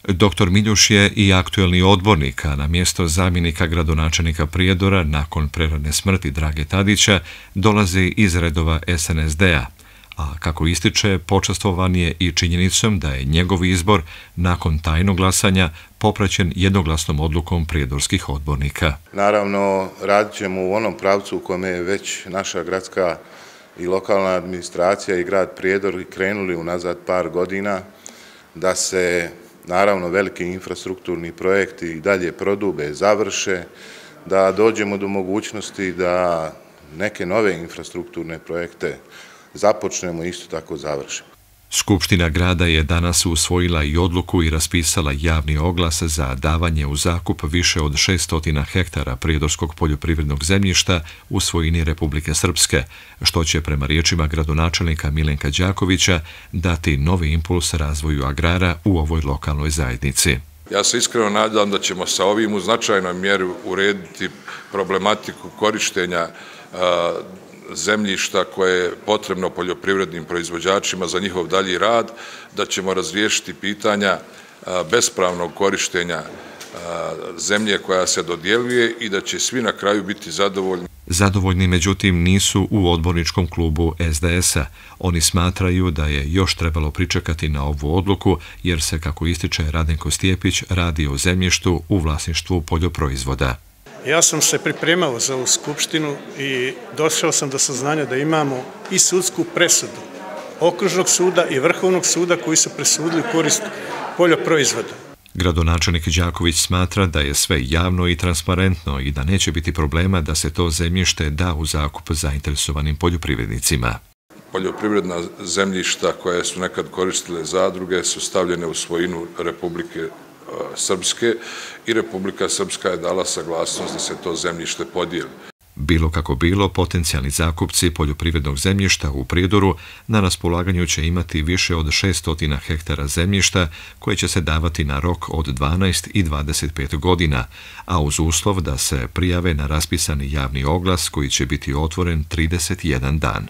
Dr. Miljuš je i aktuelni odbornik, a na mjesto zamjenika gradonačelnika Prijedora nakon prerane smrti Drage Tadića dolazi iz redova SNSD-a, a kako ističe, počastvovan je i činjenicom da je njegov izbor nakon tajnog glasanja popraćen jednoglasnom odlukom prijedorskih odbornika. Naravno, radit ćemo u onom pravcu u kome je već naša gradska i lokalna administracija i grad Prijedor krenuli unazad par godina, da se naravno veliki infrastrukturni projekti i dalje prodube, završe, da dođemo do mogućnosti da neke nove infrastrukturne projekte započnemo i isto tako završimo. Skupština grada je danas usvojila i odluku i raspisala javni oglas za davanje u zakup više od 600 hektara prijedorskog poljoprivrednog zemljišta u svojini Republike Srpske, što će prema riječima gradonačelnika Milenka Đakovića dati novi impuls razvoju agrara u ovoj lokalnoj zajednici. Ja se iskreno nadam da ćemo sa ovim u značajnoj mjeri urediti problematiku korištenja zemljišta koje je potrebno poljoprivrednim proizvođačima za njihov dalji rad, da ćemo razriješiti pitanja bespravnog korištenja zemlje koja se dodjeljuje i da će svi na kraju biti zadovoljni. Zadovoljni, međutim, nisu u odborničkom klubu SDS-a. Oni smatraju da je još trebalo pričekati na ovu odluku, jer se, kako ističe Radenko Stjepić, radi o zemljištu u vlasništvu poljoproizvoda. Ja sam se pripremao za ovu skupštinu i došao sam do saznanja da imamo i sudsku presudu Okružnog suda i Vrhovnog suda koji su presudili u korist poljoproizvoda. Gradonačelnik Đaković smatra da je sve javno i transparentno i da neće biti problema da se to zemljište da u zakup zainteresovanim poljoprivrednicima. Poljoprivredna zemljišta koje su nekad koristile zadruge su stavljene u svojinu Republike Srpske i Republika Srpska je dala saglasnost da se to zemljište podijeli. Bilo kako bilo, potencijalni zakupci poljoprivrednog zemljišta u Prijedoru na raspolaganju će imati više od 600 hektara zemljišta koje će se davati na rok od 12 i 25 godina, a uz uslov da se prijave na raspisani javni oglas koji će biti otvoren 31 dan.